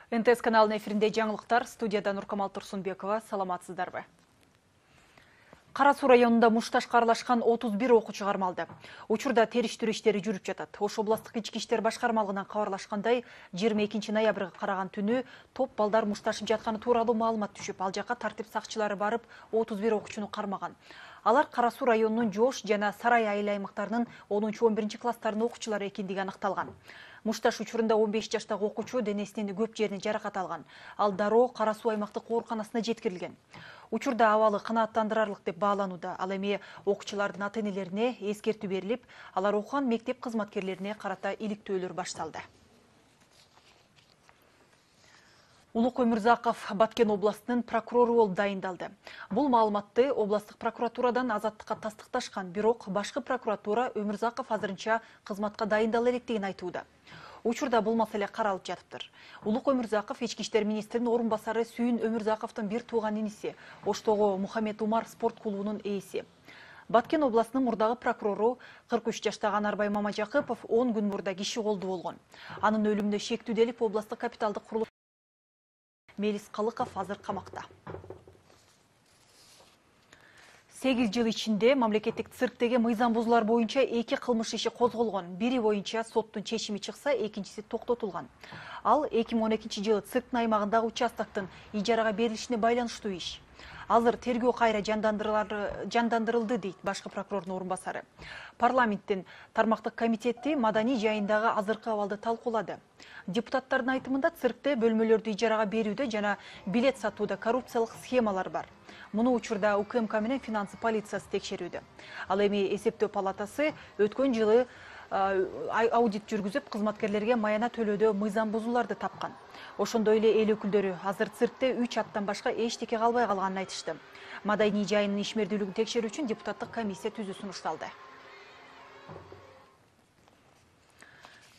НТС каналынын эфиринде жаңылыктар, студияда Нуркамал Турсунбекова. Саламатсыздарбы? Кара Суу районунда мушташ карлашкан 31 окуучу кармалды. Учурда териштирүү иштери жүрүп жатат. Ош областык ички иштер башкармалыгынан кабарлашкандай, 22 ноябрга караган түнү топ балдар мушташып жатканы тууралуу маалымат түшүп, ал жака тартип сакчылары барып 31 окуучуну кармаган. Алар Кара Суу районунун Жош жана Сарай айыл аймактарынын 10-11 класстарынын окуучулары экендиги аныкталган. Мушташ учурунда 15 жаштагы окуучу денесинин көп жерине жаракат алган. Ал дароо Кара Суу аймактык ооруканасына жеткирилген. Учурда абалы канааттандырарлык деп бааланууда. Ал эми окуучулардын ата-энелерине эскертүү берилип, алар окуган мектеп кызматкерлерине карата иликтөөлөр башталды. Улук Өмүрзаков Баткен областынын прокурору болуп дайындалды. Бул маалыматты областык прокуратурадан азаттыкка тастыкташкан, бирок башкы прокуратура Өмүрзаков азырынча кызматка дайындала электигин айтууда. Учурда бул маселе каралып жатыптыр. Улук Өмүрзаков ички иштер министринин орун басары Сүйүн Өмүрзаковдун бир тууган иниси, Оштогу Мухаммед Умар спорт клубунун ээси. Баткен областынын мурдагы прокурору 43 жаштагы Анарбай Мамажакыпов 10 күн мурда киши колду болгон. Анын өлүмүнө шектүүделип областык капиталдык курулуш Мелис Калыков азыр камакта. 8 жыл ичинде мамлекеттик цирктеги мыйзам бузуулар боюнча 2 кылмыш иши козголгон. Бири боюнча соттун чечими чыкса, экинчиси токтотулган. Ал 2012 жылы цирктин аймагындагы участоктун ижарага берилишине байланыштуу иш. Азыр тергөө кайра жандандырылды дейт башкы прокурордун орун басары. Парламенттин тармактык комитети маданий жайындагы азыркы абалды талкуулады. Депутаттардын айтымында циркте бөлмөлөрдү ижарага берүүдө жана билет сатууда коррупциялык схемалар бар. Муну учурда УКМК менен финансы полициясы текшерүүдө. Ал эми эсептөө палатасы өткөн жылы аудит жүргүзүп, кызматкерлерге маяна төлөөдө мыйзам бузууларды тапкан. Ошондой эле эл өкүлдөрү азыр циркте 3 аттан башка эчтеке калбай калганын айтышты. Маданий жайынын ишмердүүлүгүн текшерүү үчүн депутаттык комиссия түзүү сунушталды.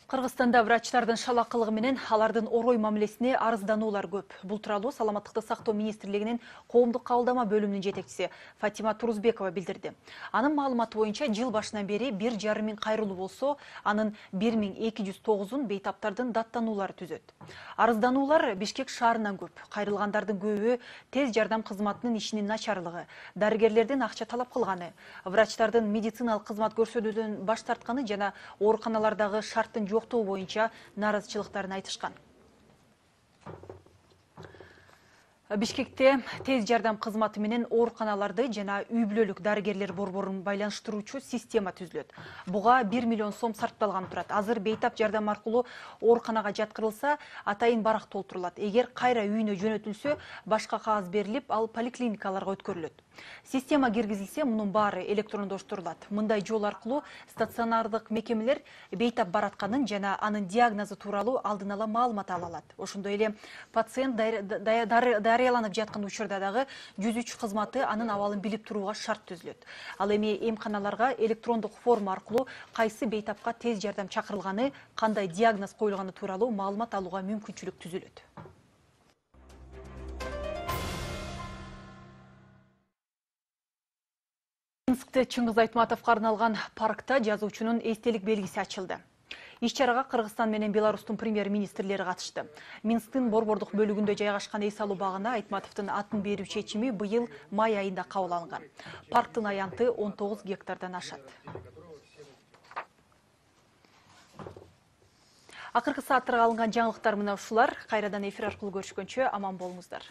Кыргызстанда врачтардын шалакылыгы менен алардын орой мамилесине арыздануулар көп. Бул тууралуу Саламаттыкты сактоо министрлигинин коомдук кабылдама бөлүмүнүн жетекчиси Фатима Турузбекова билдирди. Анын маалыматы боюнча жыл башынан бери 1,5 миң кайрылуу болсо, анын 1209-ун бейтаптардын даттануулары түзөт. Арыздануулар Бишкек шаарынан көп. Кайрылгандардын көбү тез жардам кызматынын ишинин начарлыгы, дарыгерлердин акча талап кылганы, врачтардын медициналык кызмат көрсөтүүдөн баш тартканы жана ооруканалардагы шарттын жоктоо боюнча нааразычылыктарын айтышкан. Бишкекте тез жардам кызматы менен ооруканаларды жана үй-бүлөлүк дарыгерлер борборун байланыштыруучу система түзүлөт. Буга 1 миллион сом сарпталган турат. Азыр бейтап жардам аркылуу ооруканага жаткырылса, атайын барак толтурулат. Эгер кайра үйүнө жөнөтүлсө, башка кагаз берилип, ал поликлиникаларга өткөрүлөт. Система киргизилсе, мунун баары электрондоштурулат. Мындай жол аркылуу стационардык мекемелер бейтап баратканын жана анын диагнозу тууралуу алдын ала маалымат ала алат. Ошондой эле пациент дарыяланып жаткан учурда дагы 103 кызматы анын абалын билип турууга шарт түзүлөт. Ал эми эмканаларга электрондук форма аркылуу кайсы бейтапка тез жардам чакырылганы, кандай диагноз коюлганы тууралуу маалымат алууга мүмкүнчүлүк түзүлөт. Минскте Чыңгыз Айтматовго арналган паркта жазуучунун эстелик белгиси ачылды. Иш-чарага Кыргызстан менен Беларустун премьер-министрлери катышты. Минсктин борбордук бөлүгүндө жайгашкан эс алуу багына Айтматовдун атын берүү чечими быйыл май айында кабыл алынган. Парктын аянты 19 гектардан ашат. Акыркы сааттарга алынган жаңылыктар мына ушулар. Кайрадан эфир аркылуу көрүшкөнчө аман болуңуздар.